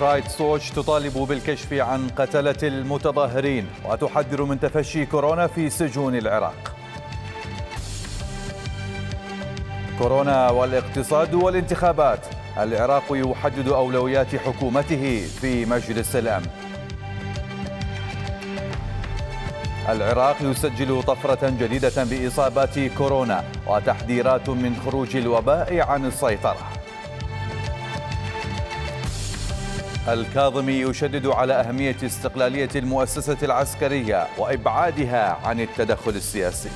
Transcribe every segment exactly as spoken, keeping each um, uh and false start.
رايتس ووتش تطالب بالكشف عن قتلة المتظاهرين وتحذر من تفشي كورونا في سجون العراق. كورونا والاقتصاد والانتخابات، العراق يحدد أولويات حكومته في مجلس الأمن. العراق يسجل طفرة جديدة بإصابات كورونا وتحذيرات من خروج الوباء عن السيطرة. الكاظمي يشدد على أهمية استقلالية المؤسسة العسكرية وإبعادها عن التدخل السياسي.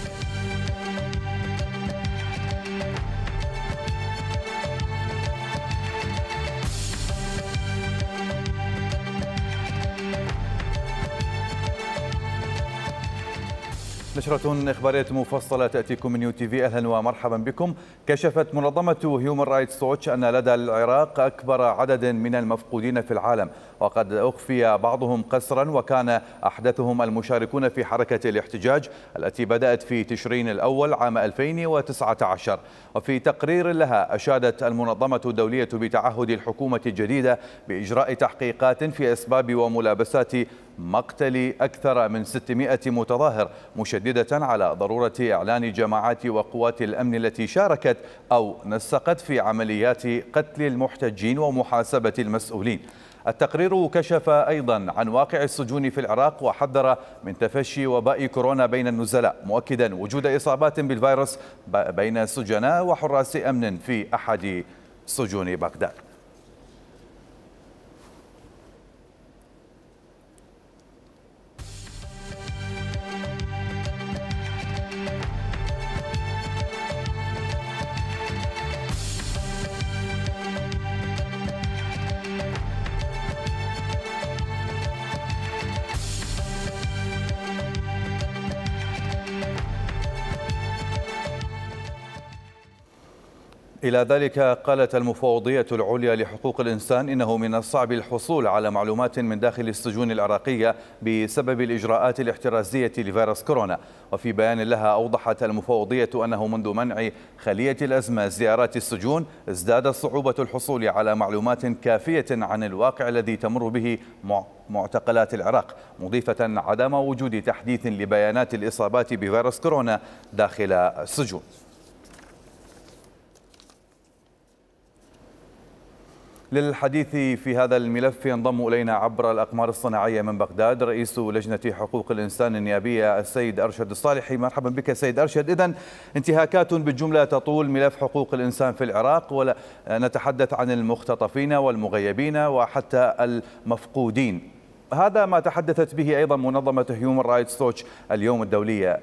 نشرة إخبارية مفصلة تأتيكم من يو تي في. أهلا ومرحبا بكم. كشفت منظمة هيومن رايتس ووتش أن لدى العراق أكبر عدد من المفقودين في العالم، وقد أخفي بعضهم قسرا، وكان أحدثهم المشاركون في حركة الاحتجاج التي بدأت في تشرين الأول عام ألفين وتسعة عشر. وفي تقرير لها أشادت المنظمة الدولية بتعهد الحكومة الجديدة بإجراء تحقيقات في أسباب وملابسات مقتل أكثر من ستمائة متظاهر، مشددة على ضرورة إعلان جماعات وقوات الأمن التي شاركت أو نسقت في عمليات قتل المحتجين ومحاسبة المسؤولين. التقرير كشف أيضا عن واقع السجون في العراق وحذر من تفشي وباء كورونا بين النزلاء، مؤكدا وجود إصابات بالفيروس بين سجناء وحراس أمن في أحد سجون بغداد. إلى ذلك قالت المفوضية العليا لحقوق الإنسان إنه من الصعب الحصول على معلومات من داخل السجون العراقية بسبب الإجراءات الاحترازية لفيروس كورونا. وفي بيان لها أوضحت المفوضية أنه منذ منع خلية الأزمة زيارات السجون ازداد صعوبة الحصول على معلومات كافية عن الواقع الذي تمر به معتقلات العراق، مضيفة عدم وجود تحديث لبيانات الإصابات بفيروس كورونا داخل السجون. للحديث في هذا الملف ينضم إلينا عبر الأقمار الصناعية من بغداد رئيس لجنة حقوق الإنسان النيابية السيد أرشد الصالحي. مرحبا بك سيد أرشد. إذن انتهاكات بالجملة تطول ملف حقوق الإنسان في العراق، ونتحدث عن المختطفين والمغيبين وحتى المفقودين. هذا ما تحدثت به أيضا منظمة هيومن رايتس ووتش اليوم الدولية.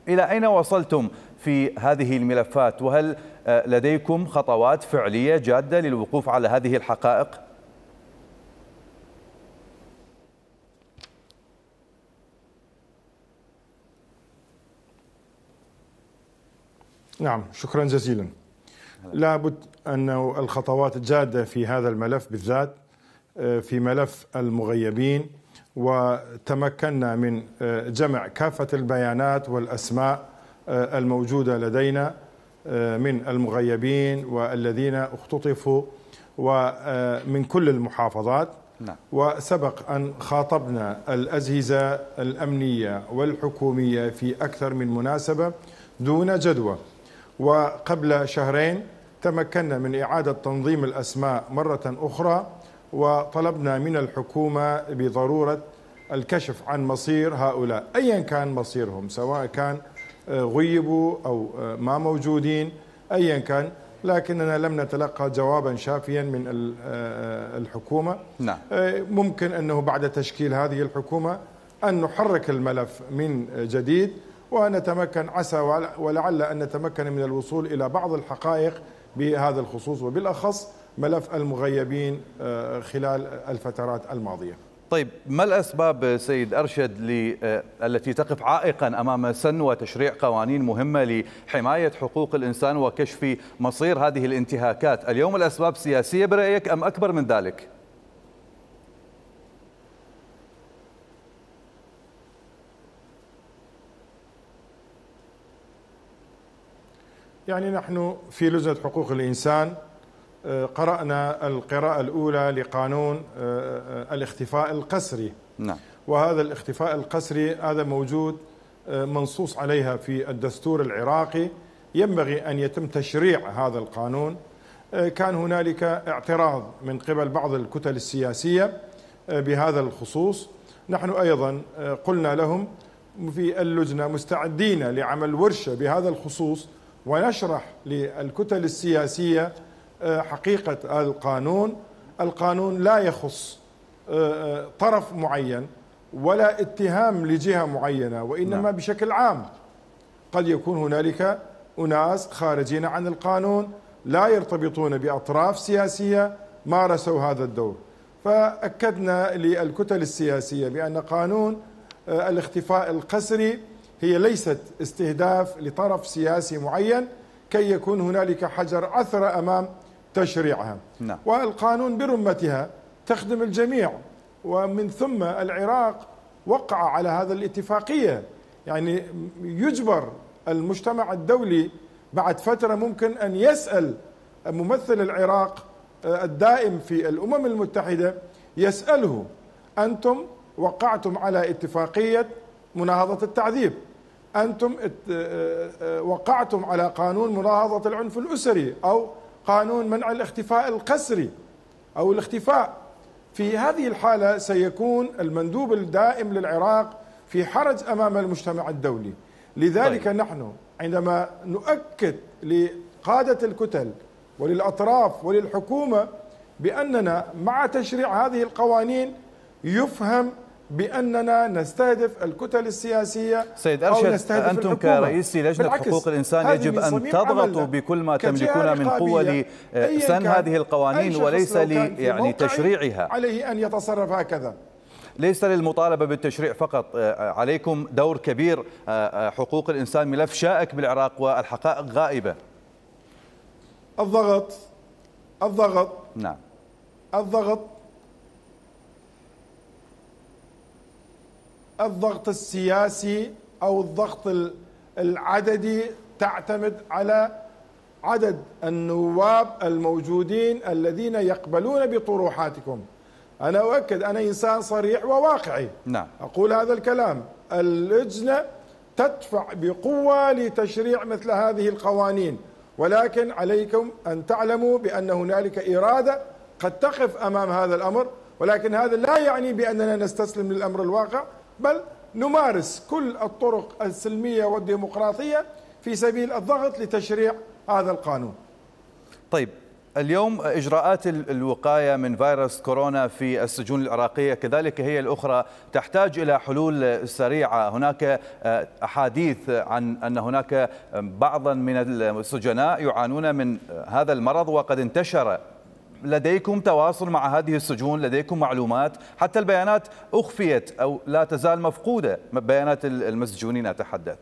إلى أين وصلتم في هذه الملفات؟ وهل لديكم خطوات فعلية جادة للوقوف على هذه الحقائق؟ نعم، شكرا جزيلا. لابد أن الخطوات الجادة في هذا الملف بالذات في ملف المغيبين، وتمكنا من جمع كافة البيانات والأسماء الموجودة لدينا من المغيبين والذين اختطفوا ومن كل المحافظات. نعم. وسبق أن خاطبنا الأجهزة الأمنية والحكومية في أكثر من مناسبة دون جدوى، وقبل شهرين تمكنا من إعادة تنظيم الأسماء مرة أخرى، وطلبنا من الحكومة بضرورة الكشف عن مصير هؤلاء أيا كان مصيرهم، سواء كان غيبوا أو ما موجودين أيا كان، لكننا لم نتلقى جوابا شافيا من الحكومة. نعم. ممكن أنه بعد تشكيل هذه الحكومة أن نحرك الملف من جديد ونتمكن، عسى ولعل أن نتمكن من الوصول إلى بعض الحقائق بهذا الخصوص، وبالأخص ملف المغيبين خلال الفترات الماضية. طيب، ما الأسباب سيد أرشد التي تقف عائقا أمام سن وتشريع قوانين مهمة لحماية حقوق الإنسان وكشف مصير هذه الانتهاكات؟ اليوم الأسباب سياسية برأيك أم أكبر من ذلك؟ يعني نحن في لجنة حقوق الإنسان قرأنا القراءة الأولى لقانون الاختفاء القسري. نعم. وهذا الاختفاء القسري هذا موجود منصوص عليها في الدستور العراقي، ينبغي أن يتم تشريع هذا القانون. كان هنالك اعتراض من قبل بعض الكتل السياسية بهذا الخصوص. نحن أيضا قلنا لهم في اللجنة مستعدين لعمل ورشة بهذا الخصوص ونشرح للكتل السياسية حقيقة هذا القانون. القانون لا يخص طرف معين ولا اتهام لجهة معينة، وإنما نعم. بشكل عام قد يكون هنالك أناس خارجين عن القانون لا يرتبطون بأطراف سياسية مارسوا هذا الدور. فأكدنا للكتل السياسية بأن قانون الاختفاء القسري هي ليست استهداف لطرف سياسي معين كي يكون هنالك حجر عثرة أمام تشريعها. نعم. والقانون برمتها تخدم الجميع، ومن ثم العراق وقع على هذا الاتفاقية. يعني يجبر المجتمع الدولي بعد فترة ممكن أن يسأل ممثل العراق الدائم في الأمم المتحدة، يسأله أنتم وقعتم على اتفاقية مناهضة التعذيب، أنتم وقعتم على قانون مناهضة العنف الأسري أو قانون منع الاختفاء القسري أو الاختفاء. في هذه الحالة سيكون المندوب الدائم للعراق في حرج أمام المجتمع الدولي. لذلك طيب. نحن عندما نؤكد لقادة الكتل وللأطراف وللحكومة بأننا مع تشريع هذه القوانين يفهم بأننا نستهدف الكتل السياسية. سيد أرشد، أنتم كرئيس لجنة حقوق الإنسان يجب أن تضغطوا بكل ما تملكون من قوة لسن هذه القوانين وليس يعني تشريعها. عليه أن يتصرف هكذا. ليس للمطالبة بالتشريع فقط، عليكم دور كبير. حقوق الإنسان ملف شائك بالعراق والحقائق غائبة. الضغط الضغط نعم الضغط الضغط السياسي أو الضغط العددي تعتمد على عدد النواب الموجودين الذين يقبلون بطروحاتكم. أنا أؤكد، أنا إنسان صريح وواقعي. نعم. أقول هذا الكلام. اللجنة تدفع بقوة لتشريع مثل هذه القوانين، ولكن عليكم أن تعلموا بأن هنالك إرادة قد تقف أمام هذا الأمر، ولكن هذا لا يعني بأننا نستسلم للأمر الواقع، بل نمارس كل الطرق السلمية والديمقراطية في سبيل الضغط لتشريع هذا القانون. طيب، اليوم إجراءات الوقاية من فيروس كورونا في السجون العراقية كذلك هي الأخرى تحتاج إلى حلول سريعة. هناك أحاديث عن أن هناك بعضا من السجناء يعانون من هذا المرض وقد انتشر. لديكم تواصل مع هذه السجون؟ لديكم معلومات؟ حتى البيانات أخفيت أو لا تزال مفقودة، بيانات المسجونين أتحدث.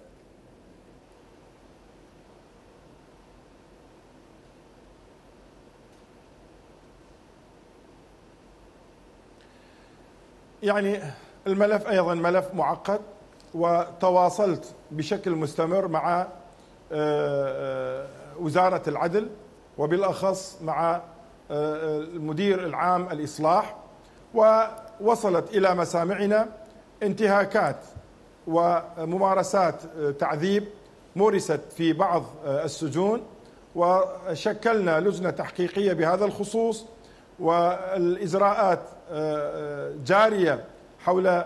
يعني الملف أيضا ملف معقد، وتواصلت بشكل مستمر مع وزارة العدل وبالأخص مع المدير العام الإصلاح، ووصلت إلى مسامعنا انتهاكات وممارسات تعذيب مورست في بعض السجون، وشكلنا لجنة تحقيقية بهذا الخصوص، والإجراءات جارية حول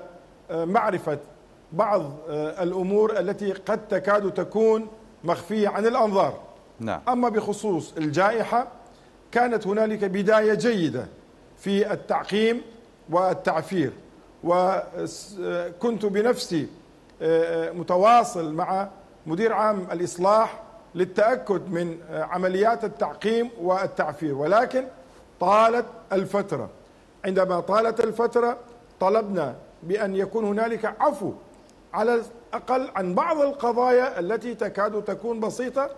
معرفة بعض الأمور التي قد تكاد تكون مخفية عن الأنظار. نعم. أما بخصوص الجائحة كانت هنالك بداية جيدة في التعقيم والتعفير، وكنت بنفسي متواصل مع مدير عام الإصلاح للتأكد من عمليات التعقيم والتعفير، ولكن طالت الفترة. عندما طالت الفترة طلبنا بأن يكون هنالك عفو على الأقل عن بعض القضايا التي تكاد تكون بسيطة،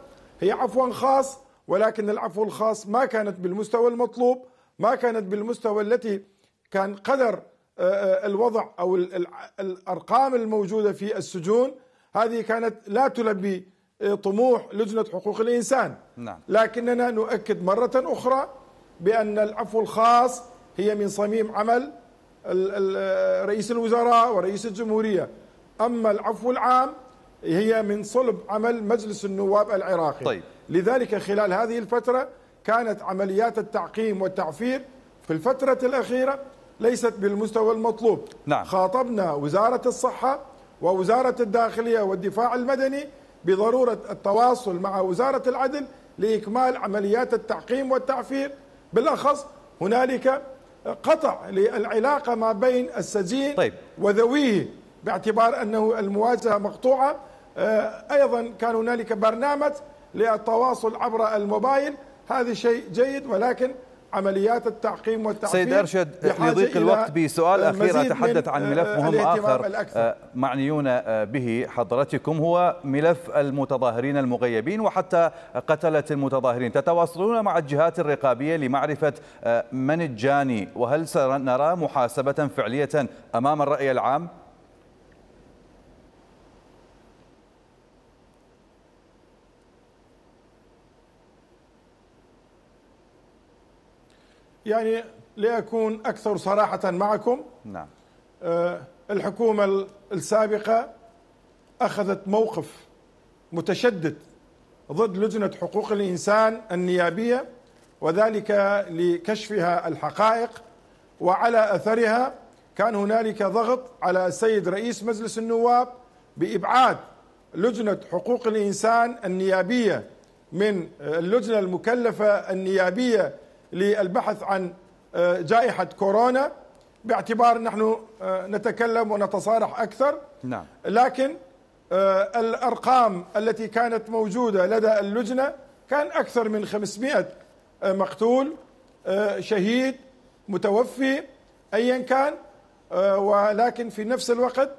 هي عفو خاص، ولكن العفو الخاص ما كانت بالمستوى المطلوب، ما كانت بالمستوى التي كان قدر الوضع أو الأرقام الموجودة في السجون. هذه كانت لا تلبي طموح لجنة حقوق الإنسان. نعم. لكننا نؤكد مرة أخرى بأن العفو الخاص هي من صميم عمل رئيس الوزراء ورئيس الجمهورية، أما العفو العام هي من صلب عمل مجلس النواب العراقي. طيب. لذلك خلال هذه الفترة كانت عمليات التعقيم والتعفير في الفترة الأخيرة ليست بالمستوى المطلوب. نعم. خاطبنا وزارة الصحة ووزارة الداخلية والدفاع المدني بضرورة التواصل مع وزارة العدل لإكمال عمليات التعقيم والتعفير، بالأخص هنالك قطع للعلاقة ما بين السجين طيب. وذويه باعتبار أنه المواجهة مقطوعة. أيضا كان هنالك برنامج للتواصل عبر الموبايل، هذا شيء جيد، ولكن عمليات التعقيم والتعفير سيد أرشد لضيق الوقت بسؤال أخير أتحدث عن ملف مهم آخر الأكثر. معنيون به حضرتكم هو ملف المتظاهرين المغيبين وحتى قتلة المتظاهرين. تتواصلون مع الجهات الرقابية لمعرفة من الجاني، وهل سنرى محاسبة فعلية أمام الرأي العام؟ يعني لأكون أكثر صراحة معكم، نعم. الحكومة السابقة أخذت موقف متشدد ضد لجنة حقوق الإنسان النيابية، وذلك لكشفها الحقائق، وعلى أثرها كان هنالك ضغط على السيد رئيس مجلس النواب بإبعاد لجنة حقوق الإنسان النيابية من اللجنة المكلفة النيابية للبحث عن جائحة كورونا، باعتبار نحن نتكلم ونتصارح أكثر. نعم. لكن الأرقام التي كانت موجودة لدى اللجنة كان أكثر من خمسمائة مقتول، شهيد، متوفي، أيا كان، ولكن في نفس الوقت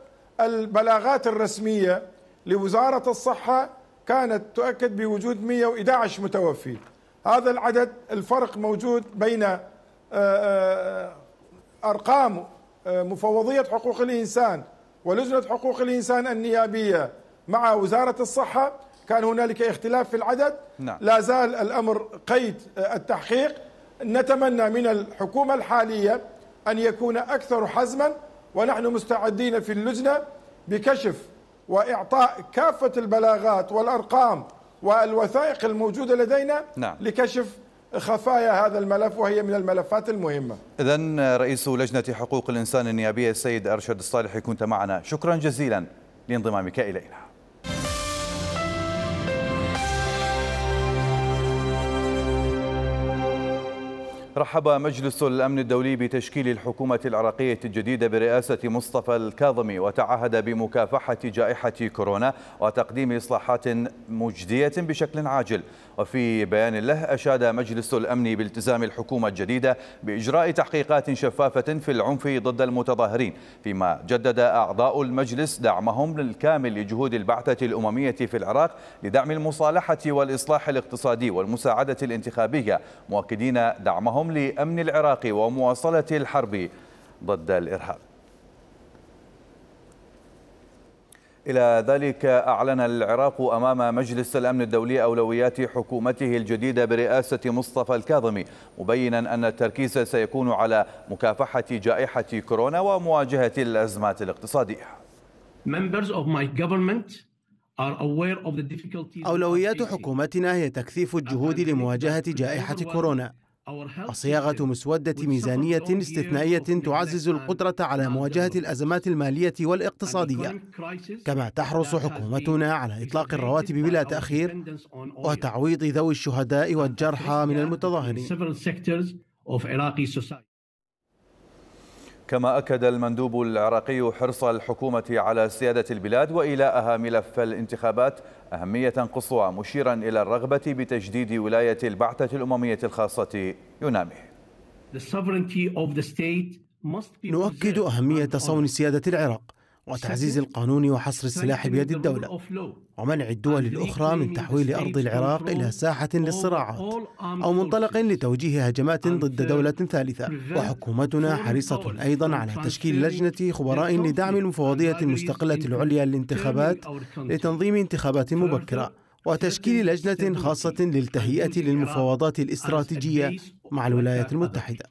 البلاغات الرسمية لوزارة الصحة كانت تؤكد بوجود مئة وأحد عشر متوفي. هذا العدد، الفرق موجود بين أرقام مفوضية حقوق الإنسان ولجنة حقوق الإنسان النيابية مع وزارة الصحة، كان هنالك اختلاف في العدد. نعم. لا زال الأمر قيد التحقيق. نتمنى من الحكومة الحالية أن يكون أكثر حزما، ونحن مستعدين في اللجنة بكشف وإعطاء كافة البلاغات والأرقام والوثائق الموجودة لدينا. نعم. لكشف خفايا هذا الملف، وهي من الملفات المهمة. إذن رئيس لجنة حقوق الإنسان النيابية السيد أرشد الصالحي كنت معنا، شكرا جزيلا لانضمامك إلينا. رحب مجلس الأمن الدولي بتشكيل الحكومة العراقية الجديدة برئاسة مصطفى الكاظمي، وتعهد بمكافحة جائحة كورونا وتقديم إصلاحات مجدية بشكل عاجل. وفي بيان له أشاد مجلس الأمن بالتزام الحكومة الجديدة بإجراء تحقيقات شفافة في العنف ضد المتظاهرين، فيما جدد أعضاء المجلس دعمهم الكامل لجهود البعثة الأممية في العراق لدعم المصالحة والإصلاح الاقتصادي والمساعدة الانتخابية، مؤكدين دعمهم لأمن العراق ومواصلة الحرب ضد الإرهاب. إلى ذلك أعلن العراق أمام مجلس الأمن الدولي أولويات حكومته الجديدة برئاسة مصطفى الكاظمي، مبينا أن التركيز سيكون على مكافحة جائحة كورونا ومواجهة الأزمات الاقتصادية. أولويات حكومتنا هي تكثيف الجهود لمواجهة جائحة كورونا وصياغة مسودة ميزانية استثنائية تعزز القدرة على مواجهة الأزمات المالية والاقتصادية، كما تحرص حكومتنا على إطلاق الرواتب بلا تأخير وتعويض ذوي الشهداء والجرحى من المتظاهرين. كما أكد المندوب العراقي حرص الحكومة على سيادة البلاد وإيلاءها ملف الانتخابات أهمية قصوى، مشيرا إلى الرغبة بتجديد ولاية البعثة الأممية الخاصة يونامي. نؤكد أهمية صون سيادة العراق وتعزيز القانون وحصر السلاح بيد الدولة ومنع الدول الأخرى من تحويل أرض العراق إلى ساحة للصراعات أو منطلق لتوجيه هجمات ضد دولة ثالثة. وحكومتنا حريصة أيضا على تشكيل لجنة خبراء لدعم المفوضية المستقلة العليا للانتخابات لتنظيم انتخابات مبكرة وتشكيل لجنة خاصة للتهيئة للمفاوضات الاستراتيجية مع الولايات المتحدة.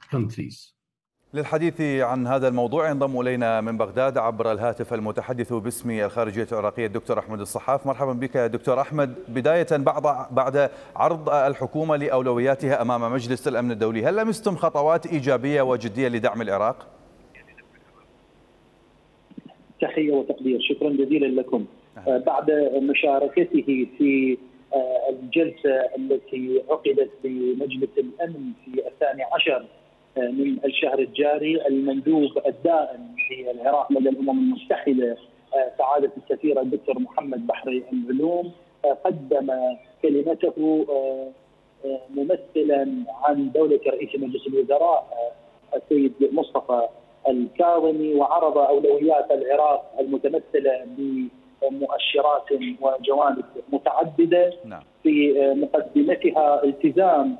للحديث عن هذا الموضوع ينضم إلينا من بغداد عبر الهاتف المتحدث باسم الخارجية العراقية الدكتور أحمد الصحاف. مرحبا بك يا دكتور أحمد. بداية بعد بعد عرض الحكومة لأولوياتها أمام مجلس الأمن الدولي، هل لمستم خطوات إيجابية وجدية لدعم العراق؟ تحية وتقدير، شكرا جزيلا لكم. بعد مشاركته في الجلسة التي عقدت بمجلس الأمن في الثاني عشر من الشهر الجاري، المندوب الدائم للعراق لدى الأمم المتحدة سعادة السفير الدكتور محمد بحري العلوم قدم كلمته ممثلا عن دولة رئيس مجلس الوزراء السيد مصطفى الكاظمي، وعرض أولويات العراق المتمثلة بمؤشرات وجوانب متعددة. في مقدمتها التزام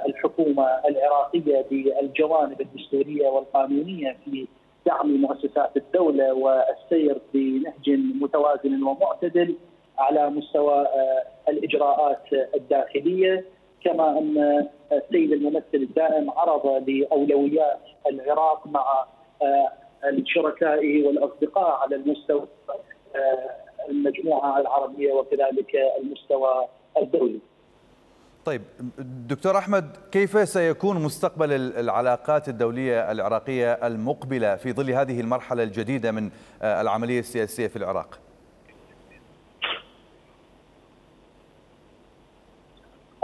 الحكومة العراقية بالجوانب الدستورية والقانونية في دعم مؤسسات الدولة والسير بنهج متوازن ومعتدل على مستوى الإجراءات الداخلية، كما أن السيد الممثل الدائم عرض لأولويات العراق مع الشركاء والأصدقاء على المستوى المجموعة العربية وكذلك المستوى الدولي. طيب دكتور أحمد، كيف سيكون مستقبل العلاقات الدولية العراقية المقبلة في ظل هذه المرحلة الجديدة من العملية السياسية في العراق؟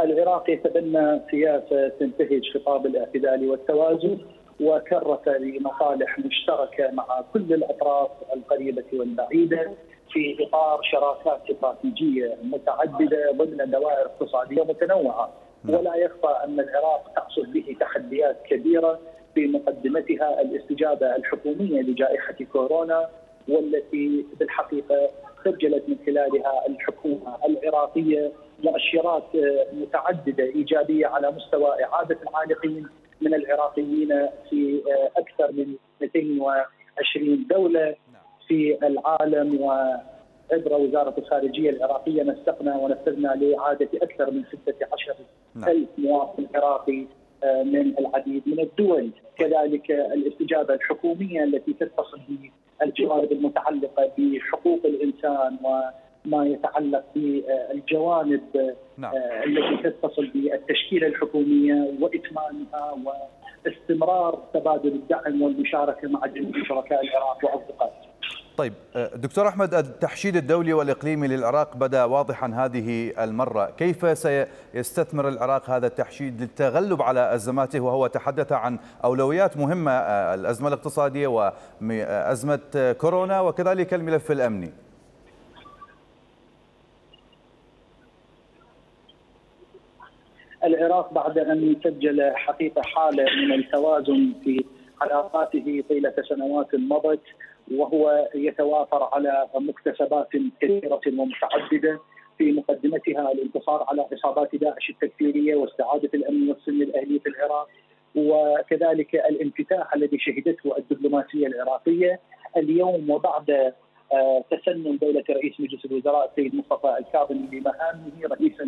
العراق يتبنى سياسة تنتهج خطاب الاعتدال والتوازن وكرس لمصالح مشتركة مع كل الأطراف القريبة والبعيدة في إطار شراكات استراتيجية متعددة ضمن دوائر اقتصادية متنوعة. ولا يخفى أن العراق تحصل به تحديات كبيرة في مقدمتها الاستجابة الحكومية لجائحة كورونا، والتي بالحقيقة خجلت من خلالها الحكومة العراقية مؤشرات متعددة إيجابية على مستوى إعادة العالقين من العراقيين في أكثر من مئتين وعشرين دولة في العالم. وعبر وزارة الخارجية العراقية نسقنا ونفذنا لإعادة أكثر من ستة عشر ألف مواطن عراقي من العديد من الدول. كذلك الاستجابة الحكومية التي تتصل بالجوانب المتعلقة بحقوق الإنسان وما يتعلق بالجوانب نعم. التي تتصل بالتشكيلة الحكومية وإتمامها واستمرار تبادل الدعم والمشاركة مع جميع شركاء العراق وأصدقائه. طيب دكتور أحمد، التحشيد الدولي والإقليمي للعراق بدأ واضحا هذه المرة، كيف سيستثمر العراق هذا التحشيد للتغلب على أزماته، وهو تحدث عن أولويات مهمة، الأزمة الاقتصادية وأزمة كورونا وكذلك الملف الأمني؟ العراق بعد أن سجل حقيقة حالة من التوازن في علاقاته طيلة سنوات مضت، وهو يتوافر على مكتسبات كثيرة ومتعددة، في مقدمتها الانتصار على عصابات داعش التكفيرية واستعادة الأمن والسلم الأهلي في العراق، وكذلك الانفتاح الذي شهدته الدبلوماسية العراقية اليوم. وبعد تسنن دولة رئيس مجلس الوزراء السيد مصطفى الكاظمي بمهامه رئيسا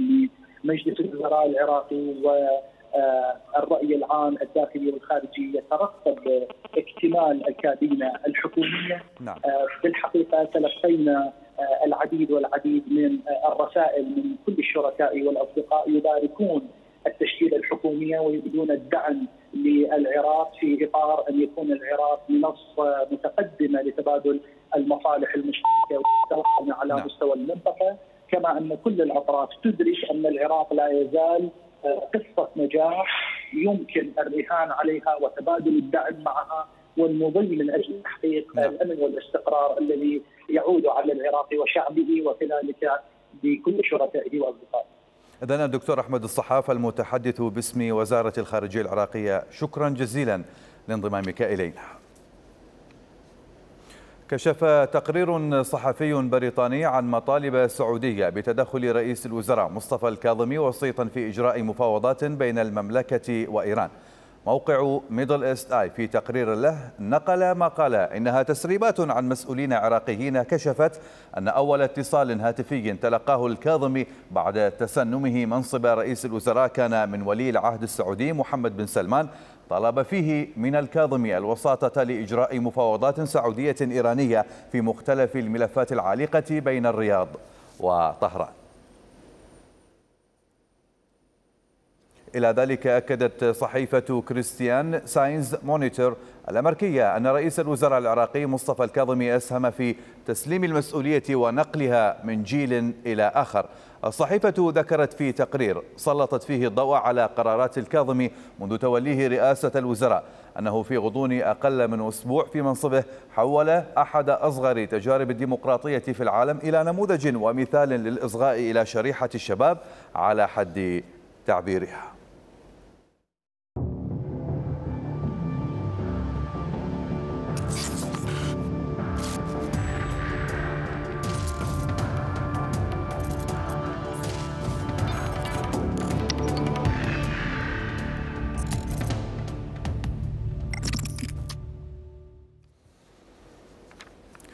لمجلس الوزراء العراقي، والرأي العام الداخلي والخارجي يترقب اكتمال الكابينة الحكومية. نعم. بالحقيقة تلقينا العديد والعديد من الرسائل من كل الشركاء والأصدقاء يباركون التشكيلة الحكومية ويريدون الدعم للعراق في إطار أن يكون العراق منصة متقدمة لتبادل المصالح المشتركة والتوازن على نعم. مستوى المنطقة، كما أن كل الأطراف تدرك أن العراق لا يزال قصة نجاح يمكن الرهان عليها وتبادل الدعم معها والمضي من أجل تحقيق نعم. الأمن والاستقرار الذي يعود على العراق وشعبه وكذلك بكل شركائه وأصدقائه. إذن الدكتور أحمد الصحاف المتحدث باسم وزارة الخارجية العراقية، شكرا جزيلا لانضمامك إلينا. كشف تقرير صحفي بريطاني عن مطالب سعودية بتدخل رئيس الوزراء مصطفى الكاظمي وسيطا في إجراء مفاوضات بين المملكة وإيران. موقع ميدل إيست آي في تقرير له نقل ما قال إنها تسريبات عن مسؤولين عراقيين كشفت أن أول اتصال هاتفي تلقاه الكاظمي بعد تسنمه منصب رئيس الوزراء كان من ولي العهد السعودي محمد بن سلمان، طلب فيه من الكاظمي الوساطة لإجراء مفاوضات سعودية إيرانية في مختلف الملفات العالقة بين الرياض وطهران. إلى ذلك أكدت صحيفة كريستيان ساينز مونيتور الأمريكية أن رئيس الوزراء العراقي مصطفى الكاظمي أسهم في تسليم المسؤولية ونقلها من جيل إلى آخر. الصحيفة ذكرت في تقرير سلطت فيه الضوء على قرارات الكاظمي منذ توليه رئاسة الوزراء أنه في غضون أقل من أسبوع في منصبه حول أحد أصغر تجارب الديمقراطية في العالم إلى نموذج ومثال للإصغاء إلى شريحة الشباب على حد تعبيرها.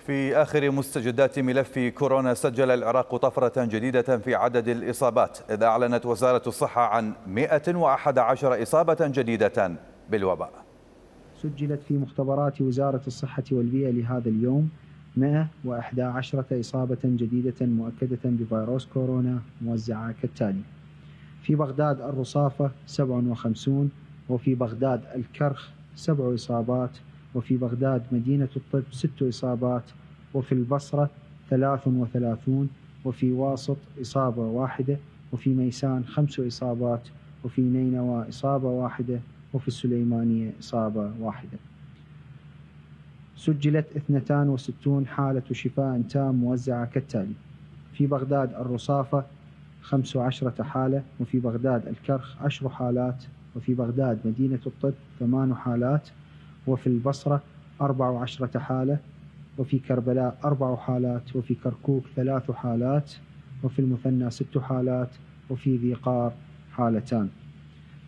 في آخر مستجدات ملف كورونا، سجل العراق طفرة جديدة في عدد الإصابات، إذ أعلنت وزارة الصحة عن مئة وأحد عشر إصابة جديدة بالوباء. سجلت في مختبرات وزارة الصحة والبيئة لهذا اليوم مئة وأحد عشر إصابة جديدة مؤكدة بفيروس كورونا موزعة كالتالي: في بغداد الرصافة سبع وخمسين، وفي بغداد الكرخ سبع إصابات، وفي بغداد مدينة الطب ست إصابات، وفي البصرة ثلاث وثلاثون، وفي واسط إصابة واحدة، وفي ميسان خمس إصابات، وفي نينوى إصابة واحدة، وفي السليمانية إصابة واحدة. سجلت اثنتان وستون حالة شفاء تام موزعة كالتالي: في بغداد الرصافة خمس عشرة حالة، وفي بغداد الكرخ عشر حالات، وفي بغداد مدينة الطب ثمان حالات، وفي البصرة أربع عشرة حالة، وفي كربلاء أربع حالات، وفي كركوك ثلاث حالات، وفي المثنى ست حالات، وفي ذي قار حالتان.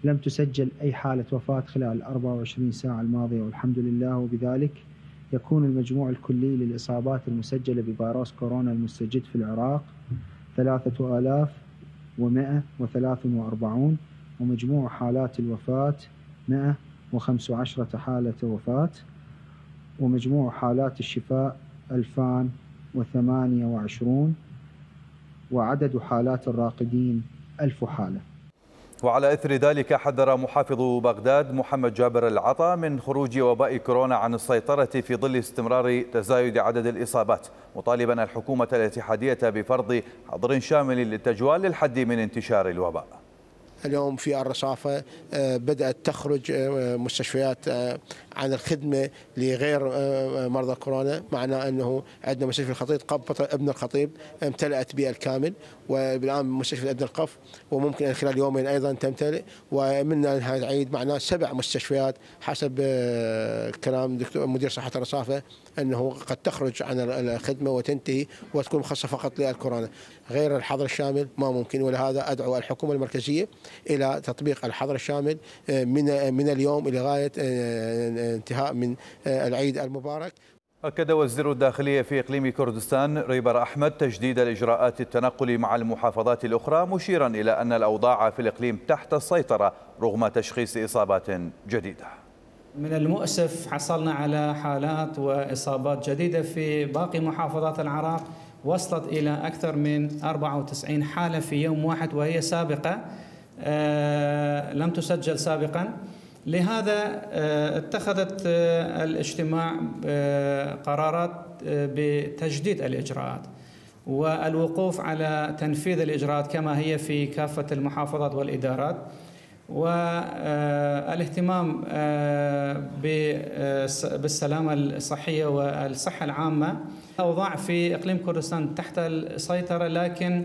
لم تسجل أي حالة وفاة خلال الأربع وعشرين ساعة الماضية والحمد لله، وبذلك يكون المجموع الكلي للإصابات المسجلة بفيروس كورونا المستجد في العراق ثلاثة آلاف ومئة وثلاث وأربعين، ومجموع حالات الوفاة مئة وخمس عشرة حالة وفاة، ومجموع حالات الشفاء ألفان وثمانية وعشرين، وعدد حالات الراقدين ألف حالة. وعلى إثر ذلك حذر محافظ بغداد محمد جابر العطا من خروج وباء كورونا عن السيطرة في ظل استمرار تزايد عدد الإصابات، مطالبا الحكومة الاتحادية بفرض حظر شامل للتجوال للحد من انتشار الوباء. اليوم في الرصافة بدأت تخرج مستشفيات عن الخدمة لغير مرضى كورونا، معناه أنه عندنا مستشفى الخطيب قبة ابن الخطيب امتلأت بالكامل، والآن مستشفى ابن القف وممكن أن خلال يومين أيضا تمتلئ، ومنها أنها تعيد معناه سبع مستشفيات حسب كلام دكتور مدير صحة الرصافة أنه قد تخرج عن الخدمة وتنتهي وتكون مخصصة فقط للكورونا. غير الحظر الشامل ما ممكن، ولهذا أدعو الحكومة المركزية إلى تطبيق الحظر الشامل من من اليوم إلى غاية انتهاء من العيد المبارك. أكد وزير الداخلية في إقليم كردستان ريبر أحمد تجديد الإجراءات التنقل مع المحافظات الأخرى، مشيرا إلى أن الأوضاع في الإقليم تحت السيطرة رغم تشخيص إصابات جديدة. من المؤسف حصلنا على حالات وإصابات جديدة في باقي محافظات العراق، وصلت إلى أكثر من أربعة وتسعين حالة في يوم واحد، وهي سابقة آه لم تسجل سابقا. لهذا آه اتخذت آه الاجتماع آه قرارات آه بتجديد الإجراءات والوقوف على تنفيذ الإجراءات كما هي في كافة المحافظات والإدارات، والاهتمام بالسلامة الصحية والصحة العامة. الأوضاع في إقليم كردستان تحت السيطرة، لكن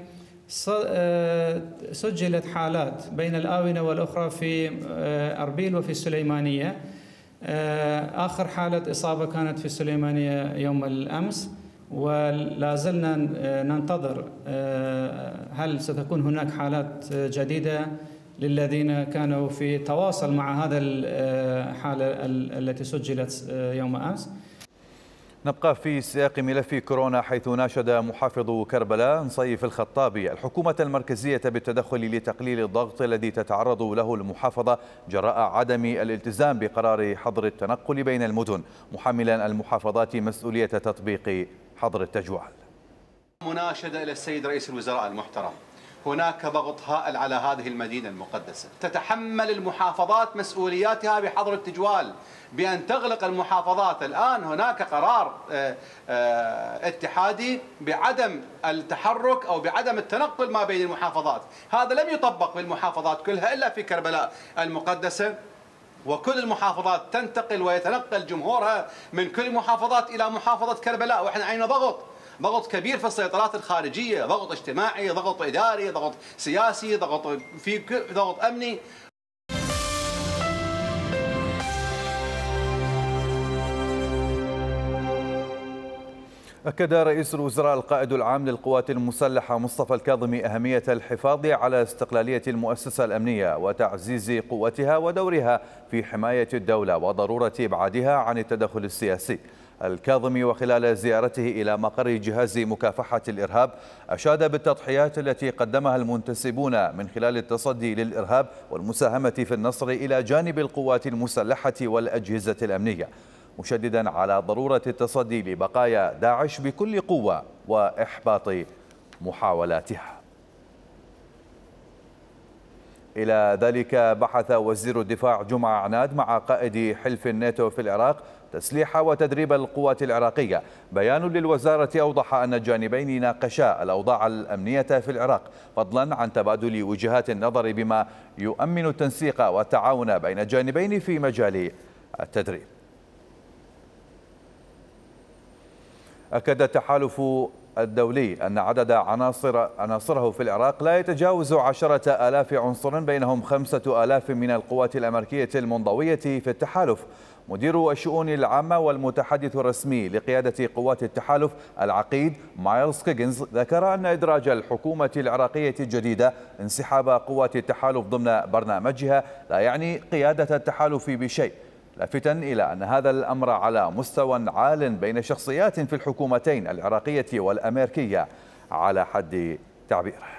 سجلت حالات بين الآونة والأخرى في أربيل وفي السليمانية. آخر حالة إصابة كانت في السليمانية يوم الأمس، ولا زلنا ننتظر هل ستكون هناك حالات جديدة للذين كانوا في تواصل مع هذا الحالة التي سجلت يوم أمس. نبقى في سياق ملف كورونا، حيث ناشد محافظ كربلاء نصيف الخطابي الحكومة المركزية بالتدخل لتقليل الضغط الذي تتعرض له المحافظة جراء عدم الالتزام بقرار حظر التنقل بين المدن، محملا المحافظات مسؤولية تطبيق حظر التجوال. مناشدة إلى السيد رئيس الوزراء المحترم، هناك ضغط هائل على هذه المدينة المقدسة، تتحمل المحافظات مسؤولياتها بحظر التجوال بأن تغلق المحافظات. الآن هناك قرار اتحادي بعدم التحرك أو بعدم التنقل ما بين المحافظات، هذا لم يطبق بالمحافظات كلها إلا في كربلاء المقدسة، وكل المحافظات تنتقل ويتنقل جمهورها من كل المحافظات إلى محافظة كربلاء، وإحنا علينا ضغط ضغط كبير في السيطرات الخارجية، ضغط اجتماعي، ضغط إداري، ضغط سياسي، ضغط في ضغط أمني. أكد رئيس الوزراء القائد العام للقوات المسلحة مصطفى الكاظمي أهمية الحفاظ على استقلالية المؤسسة الأمنية وتعزيز قوتها ودورها في حماية الدولة وضرورة إبعادها عن التدخل السياسي. الكاظمي وخلال زيارته إلى مقر جهاز مكافحة الإرهاب أشاد بالتضحيات التي قدمها المنتسبون من خلال التصدي للإرهاب والمساهمة في النصر إلى جانب القوات المسلحة والأجهزة الأمنية، مشددا على ضرورة التصدي لبقايا داعش بكل قوة وإحباط محاولاتها. إلى ذلك بحث وزير الدفاع جمعة عناد مع قائد حلف الناتو في العراق تسليح وتدريب القوات العراقية. بيان للوزارة أوضح أن الجانبين ناقشا الأوضاع الأمنية في العراق، فضلا عن تبادل وجهات النظر بما يؤمن التنسيق والتعاون بين الجانبين في مجال التدريب. أكد التحالف الدولي أن عدد عناصر عناصره في العراق لا يتجاوز عشرة آلاف عنصر، بينهم خمسة آلاف من القوات الأمريكية المنضوية في التحالف. مدير الشؤون العامة والمتحدث الرسمي لقيادة قوات التحالف العقيد مايلز كيجنز ذكر أن إدراج الحكومة العراقية الجديدة انسحاب قوات التحالف ضمن برنامجها لا يعني قيادة التحالف بشيء، لافتا إلى أن هذا الأمر على مستوى عال بين شخصيات في الحكومتين العراقية والأمريكية على حد تعبيره.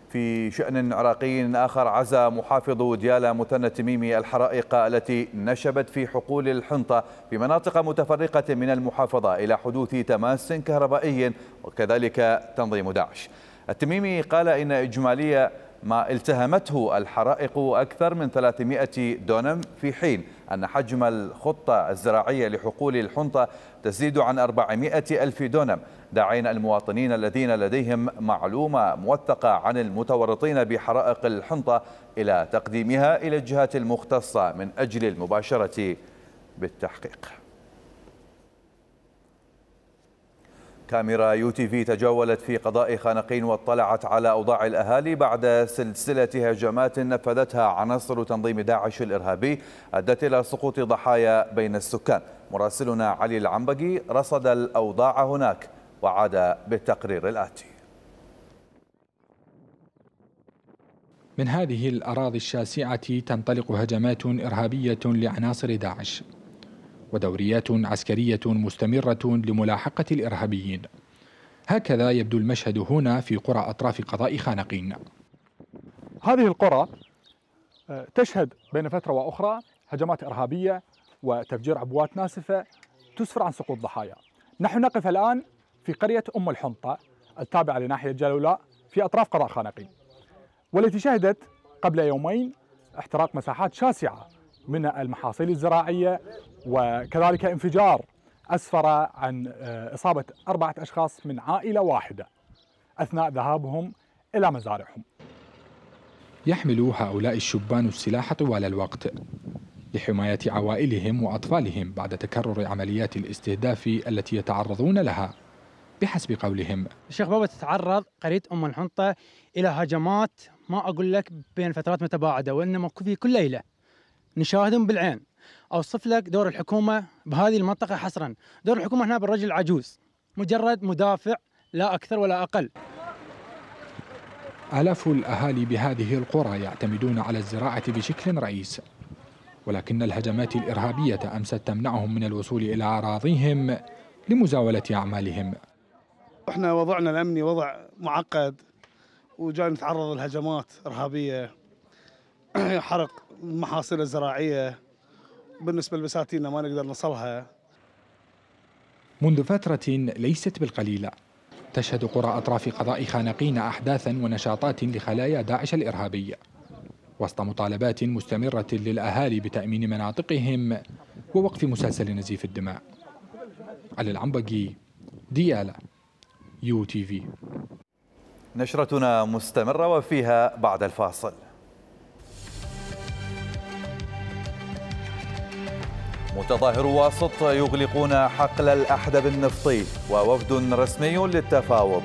في شأن عراقي آخر، عزا محافظ ديالى مثنى التميمي الحرائق التي نشبت في حقول الحنطة في مناطق متفرقة من المحافظة إلى حدوث تماس كهربائي وكذلك تنظيم داعش. التميمي قال إن إجمالي ما التهمته الحرائق أكثر من ثلاثمائة دونم، في حين أن حجم الخطة الزراعية لحقول الحنطة تزيد عن أربعمائة ألف دونم، داعين المواطنين الذين لديهم معلومة موثقة عن المتورطين بحرائق الحنطة إلى تقديمها إلى الجهات المختصة من أجل المباشرة بالتحقيق. كاميرا يو تي في تجولت في قضاء خانقين واطلعت على أوضاع الأهالي بعد سلسلة هجمات نفذتها عناصر تنظيم داعش الإرهابي أدت إلى سقوط ضحايا بين السكان. مراسلنا علي العنبقي رصد الأوضاع هناك وعاد بالتقرير الآتي. من هذه الأراضي الشاسعة تنطلق هجمات إرهابية لعناصر داعش ودوريات عسكرية مستمرة لملاحقة الإرهابيين. هكذا يبدو المشهد هنا في قرى أطراف قضاء خانقين. هذه القرى تشهد بين فترة وأخرى هجمات إرهابية وتفجير عبوات ناسفة تسفر عن سقوط ضحايا. نحن نقف الآن في قرية أم الحنطة التابعة لناحية جلولاء في أطراف قضاء خانقين، والتي شهدت قبل يومين احتراق مساحات شاسعة من المحاصيل الزراعية، وكذلك انفجار أسفر عن إصابة أربعة أشخاص من عائلة واحدة أثناء ذهابهم إلى مزارعهم. يحمل هؤلاء الشبان السلاح طوال الوقت لحماية عوائلهم وأطفالهم بعد تكرر عمليات الاستهداف التي يتعرضون لها. بحسب قولهم، الشيخ بابا تتعرض قرية أم الحنطة إلى هجمات ما أقول لك بين فترات متباعدة، وإنما في كل ليلة نشاهدهم بالعين. أوصف لك دور الحكومة بهذه المنطقة حصرا. دور الحكومة هنا بالرجل العجوز، مجرد مدافع لا أكثر ولا أقل. آلاف الأهالي بهذه القرى يعتمدون على الزراعة بشكل رئيس، ولكن الهجمات الإرهابية أمست تمنعهم من الوصول إلى أراضيهم لمزاولة أعمالهم. احنا وضعنا الأمني وضع معقد، وجاي نتعرض لهجمات إرهابية، حرق المحاصيل الزراعية، بالنسبة لبساتيننا ما نقدر نصلها. منذ فترة ليست بالقليلة تشهد قرى أطراف قضاء خانقين أحداثا ونشاطات لخلايا داعش الإرهابية، وسط مطالبات مستمرة للأهالي بتأمين مناطقهم ووقف مسلسل نزيف الدماء. علي العنبقي، ديالى، يو تي في. نشرتنا مستمرة وفيها بعد الفاصل. متظاهر واسط يغلقون حقل الأحدب النفطي ووفد رسمي للتفاوض.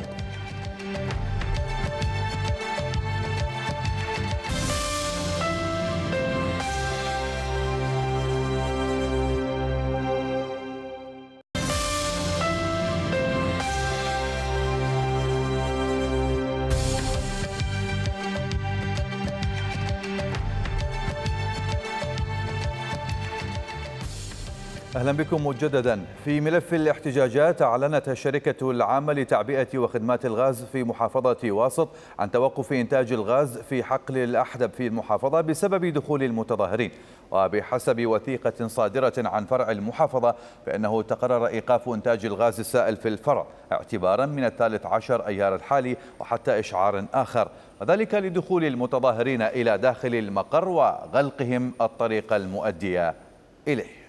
أهلا بكم مجددا. في ملف الاحتجاجات، أعلنت الشركة العامة لتعبئة وخدمات الغاز في محافظة واسط عن توقف إنتاج الغاز في حقل الأحدب في المحافظة بسبب دخول المتظاهرين. وبحسب وثيقة صادرة عن فرع المحافظة فإنه تقرر إيقاف إنتاج الغاز السائل في الفرع اعتبارا من الثالث عشر أيار الحالي وحتى إشعار آخر، وذلك لدخول المتظاهرين إلى داخل المقر وغلقهم الطريق المؤدية إليه.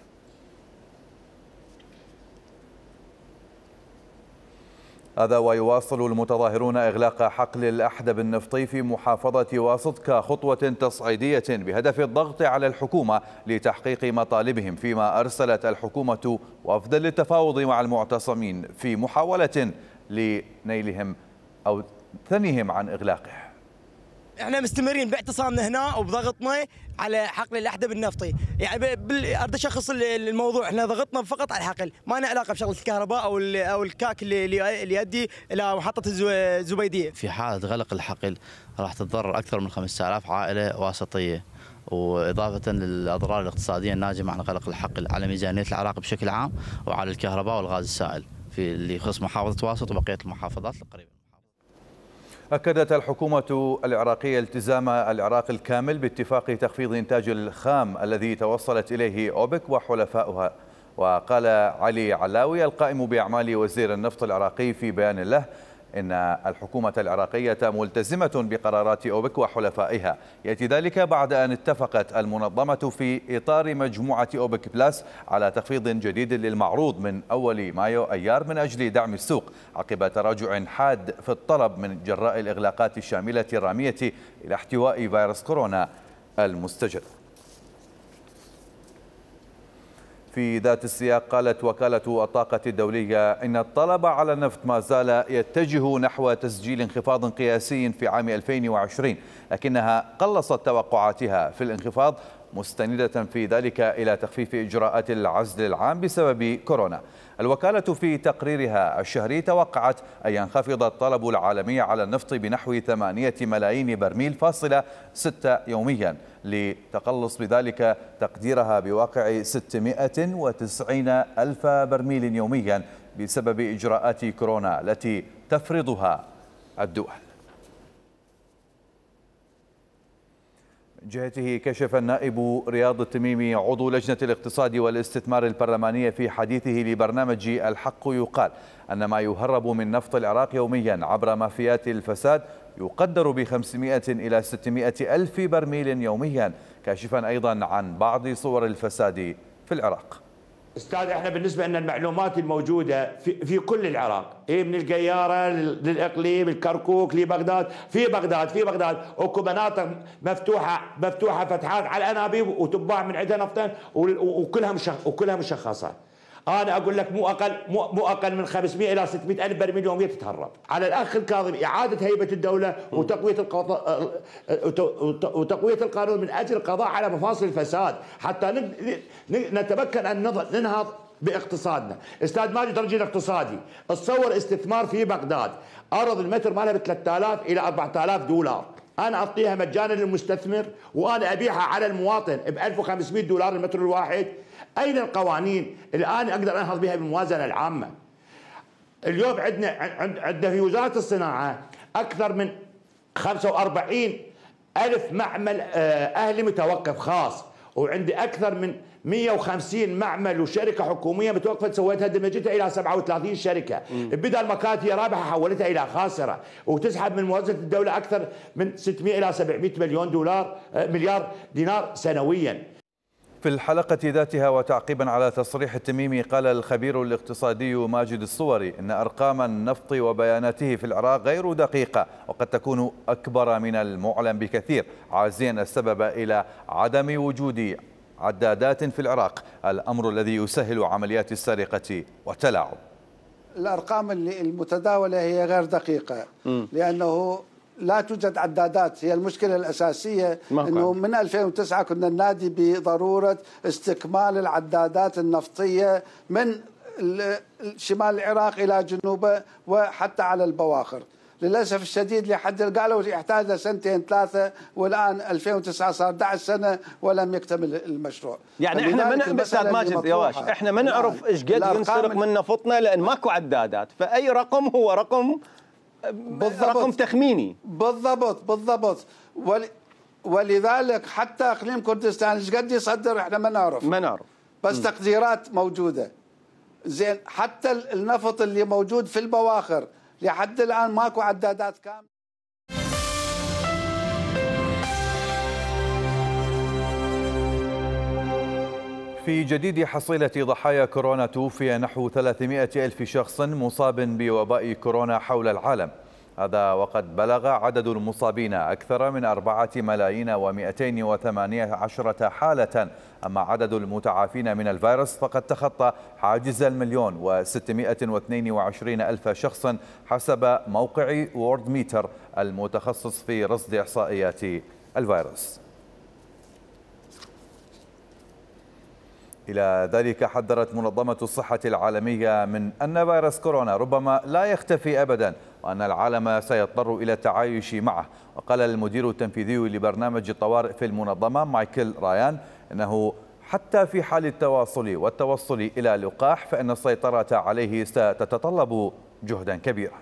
هذا ويواصل المتظاهرون إغلاق حقل الأحدب النفطي في محافظة واسط كخطوة تصعيدية بهدف الضغط على الحكومة لتحقيق مطالبهم، فيما أرسلت الحكومة وفدا للتفاوض مع المعتصمين في محاولة لنيلهم أو ثنيهم عن إغلاقه. احنا مستمرين باعتصامنا هنا وبضغطنا على حقل الأحدب النفطي، يعني اريد اشخص الموضوع، احنا ضغطنا فقط على الحقل، ما لنا علاقه بشغله الكهرباء او او الكاك اللي اللي يؤدي الى محطه الزبيديه. في حاله غلق الحقل راح تتضرر اكثر من خمسة آلاف عائله واسطيه، واضافه للاضرار الاقتصاديه الناجمه عن غلق الحقل على ميزانيه العراق بشكل عام وعلى الكهرباء والغاز السائل في اللي يخص محافظه واسط وبقيه المحافظات القريبه. أكدت الحكومة العراقية التزام العراق الكامل باتفاق تخفيض إنتاج الخام الذي توصلت إليه أوبك وحلفاؤها. وقال علي علاوي القائم بأعمال وزير النفط العراقي في بيان له إن الحكومة العراقية ملتزمة بقرارات أوبك وحلفائها. يأتي ذلك بعد أن اتفقت المنظمة في إطار مجموعة أوبك بلاس على تخفيض جديد للمعروض من أول مايو أيار من أجل دعم السوق عقب تراجع حاد في الطلب من جراء الإغلاقات الشاملة الرامية إلى احتواء فيروس كورونا المستجد. في ذات السياق، قالت وكالة الطاقة الدولية إن الطلب على النفط ما زال يتجه نحو تسجيل انخفاض قياسي في عام ألفين وعشرين، لكنها قلصت توقعاتها في الانخفاض مستندة في ذلك إلى تخفيف إجراءات العزل العام بسبب كورونا. الوكالة في تقريرها الشهري توقعت أن ينخفض الطلب العالمي على النفط بنحو ثمانية ملايين برميل فاصلة ستة يوميا، لتقلص بذلك تقديرها بواقع ستمائة وتسعين ألف برميل يوميا بسبب إجراءات كورونا التي تفرضها الدول. من جهته، كشف النائب رياض التميمي عضو لجنة الاقتصاد والاستثمار البرلمانية في حديثه لبرنامج الحق يقال أن ما يهرب من نفط العراق يوميا عبر مافيات الفساد يقدر ب خمسمائة إلى ستمائة ألف برميل يوميا، كاشفا أيضا عن بعض صور الفساد في العراق. استاذ، احنا بالنسبه لنا المعلومات الموجوده في, في كل العراق، إيه من القياره للاقليم الكركوك لبغداد، في بغداد في بغداد اكو مناطق مفتوحه مفتوحه فتحات على الانابيب وتباع من عندها نفطا وكلها مشخ وكلها مشخصه. انا اقول لك مو اقل مو, مو اقل من خمسمائة الى ستمائة الف برميل يوميا تتهرب. على الاخ الكاظم اعاده هيبه الدوله وتقويه القضاء وتقويه القانون من اجل القضاء على مفاصل الفساد، حتى نتمكن ان ننهض باقتصادنا. استاذ ماجد رجل اقتصادي، تصور استثمار في بغداد، ارض المتر مالها ب ثلاثة آلاف الى أربعة آلاف دولار، انا اعطيها مجانا للمستثمر وانا ابيعها على المواطن ب ألف وخمسمئة دولار المتر الواحد. اين القوانين الان اقدر انهض بها بالموازنه العامه؟ اليوم عندنا عندنا في وزاره الصناعه اكثر من خمسة وأربعين ألف معمل اهلي متوقف خاص، وعندي اكثر من مئة وخمسين معمل وشركه حكوميه متوقفه، سويتها دمجتها الى سبعة وثلاثين شركه، بدل ما كانت هي رابحه حولتها الى خاسره، وتسحب من موازنه الدوله اكثر من ستمئة الى سبعمئة مليون دولار مليار دينار سنويا. في الحلقة ذاتها وتعقيبا على تصريح التميمي، قال الخبير الاقتصادي ماجد الصوري إن أرقام النفط وبياناته في العراق غير دقيقة وقد تكون أكبر من المعلن بكثير، عازيا السبب إلى عدم وجود عدادات في العراق، الأمر الذي يسهل عمليات السرقة والتلاعب. الأرقام المتداولة هي غير دقيقة م. لأنه لا توجد عدادات. هي المشكلة الأساسية أنه من ألفين وتسعة كنا ننادي بضرورة استكمال العدادات النفطية من شمال العراق إلى جنوبه وحتى على البواخر. للأسف الشديد لحد قالوا يحتاج لسنتين ثلاثة، والآن ألفين وتسعة صار أحد عشر سنة ولم يكتمل المشروع. يعني احنا من استاذ ماجد يواش احنا ما نعرف ايش قد ينسرق من نفطنا لأن ماكو عدادات، فأي رقم هو رقم بالضبط. رقم تخميني. بالضبط بالضبط ول... ولذلك حتى اقليم كردستان ايش قد يصدر احنا ما نعرف ما نعرف بس م. تقديرات موجوده. زين حتى النفط اللي موجود في البواخر لحد الان ماكو عدادات كامله. في جديد حصيلة ضحايا كورونا توفي نحو ثلاثمئة ألف شخص مصاب بوباء كورونا حول العالم، هذا وقد بلغ عدد المصابين أكثر من أربعة ملايين ومئتين وثمانية عشرة حالة، أما عدد المتعافين من الفيروس فقد تخطى حاجز المليون وستمئة واثنين وعشرين ألف شخص حسب موقع وورد ميتر المتخصص في رصد إحصائيات الفيروس. إلى ذلك حذرت منظمة الصحة العالمية من أن فيروس كورونا ربما لا يختفي أبدا وأن العالم سيضطر إلى التعايش معه. وقال المدير التنفيذي لبرنامج الطوارئ في المنظمة مايكل رايان أنه حتى في حال التواصل والتوصل إلى لقاح فإن السيطرة عليه ستتطلب جهدا كبيرا.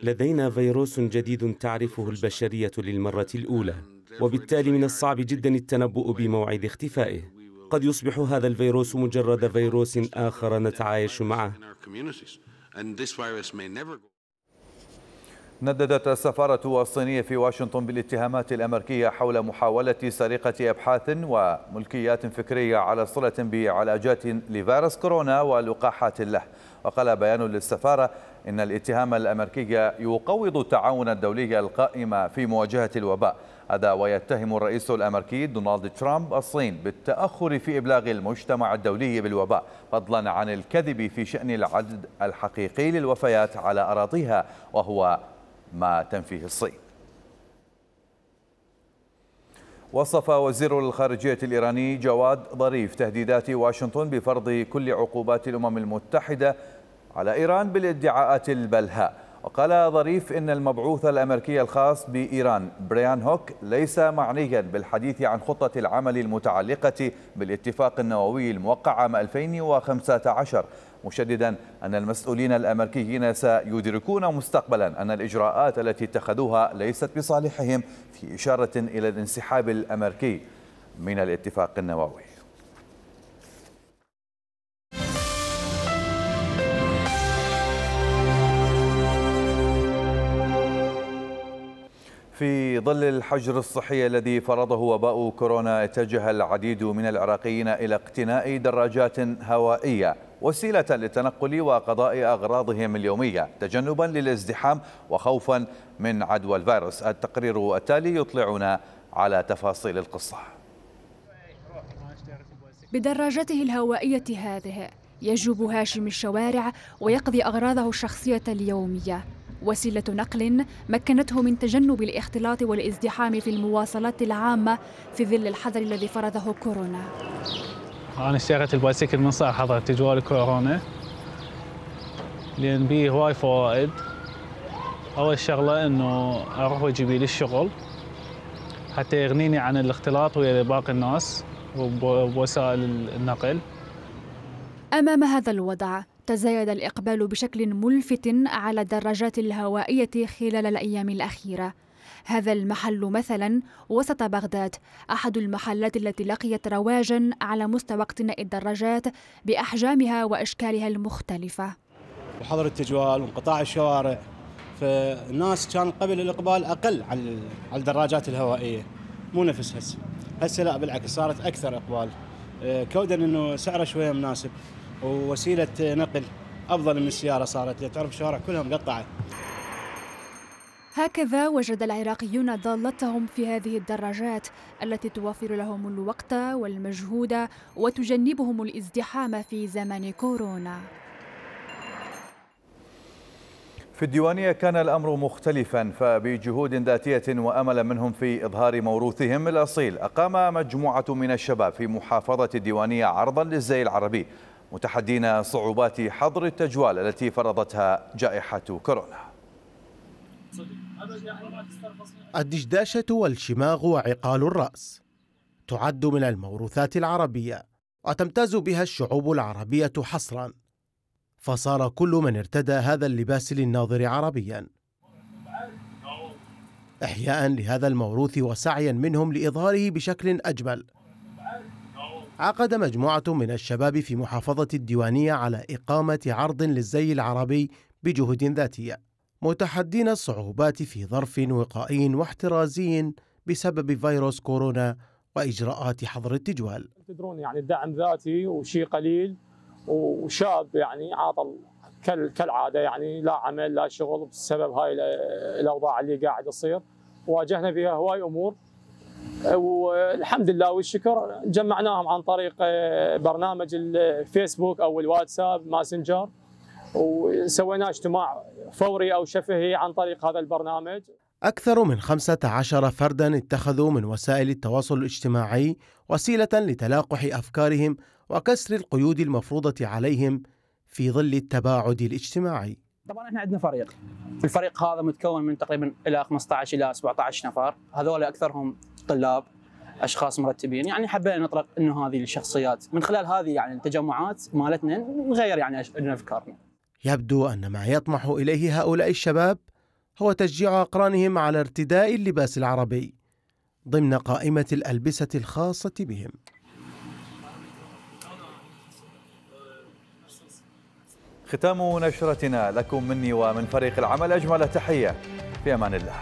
لدينا فيروس جديد تعرفه البشرية للمرة الأولى، وبالتالي من الصعب جدا التنبؤ بموعد اختفائه. قد يصبح هذا الفيروس مجرد فيروس آخر نتعايش معه. نددت السفارة الصينية في واشنطن بالاتهامات الأمريكية حول محاولة سرقة أبحاث وملكيات فكرية على صلة بعلاجات لفيروس كورونا ولقاحات له. وقال بيان للسفارة إن الاتهام الأمريكي يقوض التعاون الدولي القائم في مواجهة الوباء، هذا ويتهم الرئيس الأمريكي دونالد ترامب الصين بالتأخر في إبلاغ المجتمع الدولي بالوباء، فضلا عن الكذب في شأن العدد الحقيقي للوفيات على أراضيها وهو ما تنفيه الصين. وصف وزير الخارجية الإيراني جواد ظريف تهديدات واشنطن بفرض كل عقوبات الأمم المتحدة على إيران بالادعاءات البلهاء. وقال ظريف إن المبعوث الأمريكي الخاص بإيران بريان هوك ليس معنيا بالحديث عن خطة العمل المتعلقة بالاتفاق النووي الموقع عام ألفين وخمسة عشر، مشددا أن المسؤولين الأمريكيين سيدركون مستقبلا أن الإجراءات التي اتخذوها ليست بصالحهم، في إشارة إلى الانسحاب الأمريكي من الاتفاق النووي. في ظل الحجر الصحي الذي فرضه وباء كورونا، اتجه العديد من العراقيين إلى اقتناء دراجات هوائية وسيلة للتنقل وقضاء أغراضهم اليومية تجنبا للازدحام وخوفا من عدوى الفيروس. التقرير التالي يطلعنا على تفاصيل القصة. بدراجته الهوائية هذه يجوب هاشم الشوارع ويقضي أغراضه الشخصية اليومية، وسيلة نقل مكنته من تجنب الاختلاط والازدحام في المواصلات العامة في ظل الحظر الذي فرضه كورونا. أنا اشتريت البايسكل من صار حظر تجوال كورونا لأن بيه هواي فوائد. أول شغلة إنه أروح وأجيبي للشغل حتى يغنيني عن الاختلاط ويا باقي الناس وبوسائل النقل. أمام هذا الوضع تزايد الإقبال بشكل ملفت على الدراجات الهوائية خلال الأيام الأخيرة. هذا المحل مثلا وسط بغداد أحد المحلات التي لقيت رواجا على مستوى اقتناء الدراجات بأحجامها وأشكالها المختلفة. وحظر التجوال وانقطاع الشوارع، فالناس كان قبل الإقبال أقل على الدراجات الهوائية، مو نفس هسه. هسه لا بالعكس صارت أكثر إقبال، كودا إنه سعره شوية مناسب ووسيلة نقل أفضل من السيارة صارت، تعرف الشوارع كلها مقطعة. هكذا وجد العراقيون ضالتهم في هذه الدراجات التي توفر لهم الوقت والمجهود وتجنبهم الازدحام في زمن كورونا. في الديوانية كان الأمر مختلفا، فبجهود ذاتية وأمل منهم في إظهار موروثهم الأصيل أقام مجموعة من الشباب في محافظة الديوانية عرضا للزي العربي متحدين صعوبات حظر التجوال التي فرضتها جائحة كورونا. الدشداشة والشماغ وعقال الرأس تعد من الموروثات العربية وتمتاز بها الشعوب العربية حصرا، فصار كل من ارتدى هذا اللباس للناظر عربيا. إحياء لهذا الموروث وسعيا منهم لإظهاره بشكل أجمل، عقد مجموعة من الشباب في محافظة الديوانية على إقامة عرض للزي العربي بجهود ذاتية، متحدين الصعوبات في ظرف وقائي واحترازي بسبب فيروس كورونا وإجراءات حظر التجوال. تدرون يعني الدعم ذاتي وشيء قليل وشاب يعني عاطل كالعادة، يعني لا عمل لا شغل بسبب هاي الأوضاع اللي قاعد تصير. واجهنا فيها هواي أمور والحمد لله والشكر جمعناهم عن طريق برنامج الفيسبوك أو الواتساب ماسنجر، وسوينا اجتماع فوري أو شفهي عن طريق هذا البرنامج. أكثر من خمسة عشر فردا اتخذوا من وسائل التواصل الاجتماعي وسيلة لتلاقح أفكارهم وكسر القيود المفروضة عليهم في ظل التباعد الاجتماعي. طبعا احنا عندنا فريق، الفريق هذا متكون من تقريبا الى خمسة عشر الى سبعة عشر نفر، هذول اكثرهم طلاب، اشخاص مرتبين. يعني حبينا نطرق انه هذه الشخصيات من خلال هذه يعني التجمعات مالتنا نغير يعني افكارنا. يبدو ان ما يطمح اليه هؤلاء الشباب هو تشجيع اقرانهم على ارتداء اللباس العربي ضمن قائمة الألبسة الخاصة بهم. ختام نشرتنا لكم مني ومن فريق العمل أجمل تحية، في أمان الله.